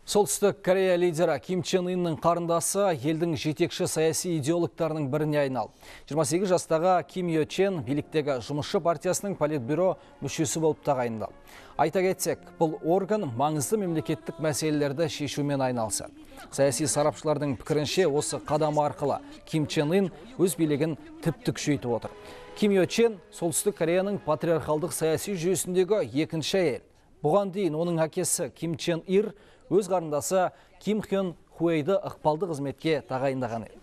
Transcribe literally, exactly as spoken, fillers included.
Солтүстік Корея лидері Ким Чен Иннің қарындасы елдің жетекші саяси идеологтарының біріне айналды. жиырма сегіз жастағы Ким Йо Чен биліктегі жұмысшы партиясының политбюро мүшесі болып тағайындалды. Айта кетсек, бұл орган маңызды мемлекеттік мәселелерді шешумен айналысады. Саяси сарапшылардың пікірінше, осы қадам арқылы Ким Чен Ын өз билігін тіпті күшейтіп отыр. Ким Йо Чен Солтүстік Кореяның патриархалдық саяси жүйесіндегі екінші әйел. Бұған дейін оның әкесі Ким Чен Ир өз қарындасы Ким Хён Хуэйді ықпалды қызметке тағайындаған еді.